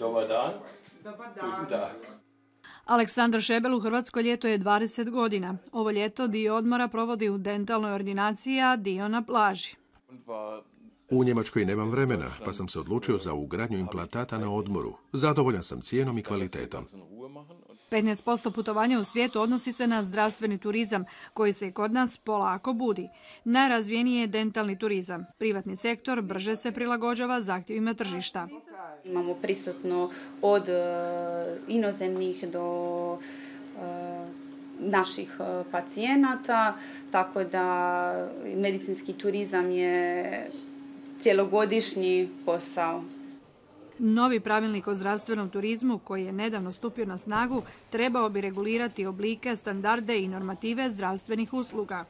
Dobar dan. Guten Tag. Aleksandar Šebel u Hrvatskoj ljeto je 20 godina. Ovo ljeto dio odmora provodi u dentalnoj ordinaciji, a dio na plaži. U Njemačkoj nemam vremena, pa sam se odlučio za ugradnju implantata na odmoru. Zadovoljan sam cijenom i kvalitetom. 15% putovanja u svijetu odnosi se na zdravstveni turizam, koji se i kod nas polako budi. Najrazvijeniji je dentalni turizam. Privatni sektor brže se prilagođava zahtjevima tržišta. Imamo prisutno od inozemnih do naših pacijenata, tako da medicinski turizam je cjelogodišnji posao. Novi pravilnik o zdravstvenom turizmu, koji je nedavno stupio na snagu, trebao bi regulirati oblike, standarde i normative zdravstvenih usluga.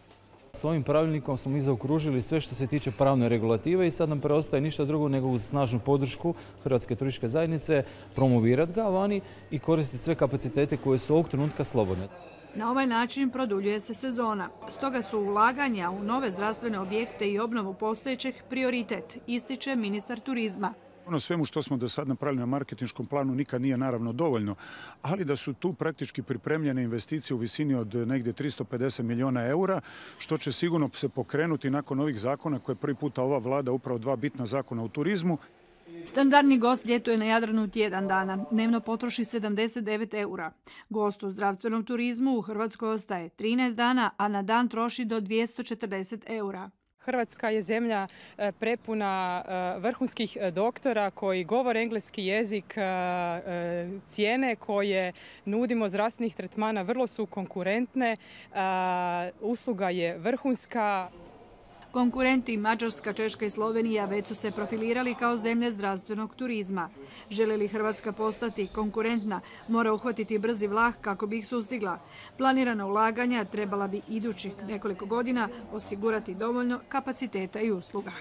S ovim pravilnikom smo mi zaokružili sve što se tiče pravne regulative i sad nam preostaje ništa drugo nego uz snažnu podršku Hrvatske turističke zajednice promovirati ga vani i koristiti sve kapacitete koje su ovog trenutka slobodne. Na ovaj način produljuje se sezona. Stoga su ulaganja u nove zdravstvene objekte i obnovu postojećeg prioritet, ističe ministar turizma. Ono svemu što smo do sad napravili na marketinškom planu nikad nije naravno dovoljno, ali da su tu praktički pripremljene investicije u visini od negdje 350 milijuna eura, što će sigurno se pokrenuti nakon ovih zakona koje prvi puta ova vlada, upravo dva bitna zakona u turizmu. Standardni gost ljetuje na Jadranu tjedan dana. Dnevno potroši 79 eura. Gost u zdravstvenom turizmu u Hrvatskoj ostaje 13 dana, a na dan troši do 240 eura. Hrvatska je zemlja prepuna vrhunskih doktora koji govore engleski jezik, cijene koje nudimo zdravstvenih tretmana vrlo su konkurentne, usluga je vrhunska. Konkurenti Mađarska, Češka i Slovenija već su se profilirali kao zemlje zdravstvenog turizma. Želi li Hrvatska postati konkurentna, mora uhvatiti brzi vlak kako bi ih sustigla. Planirana ulaganja trebala bi idućih nekoliko godina osigurati dovoljno kapaciteta i usluga.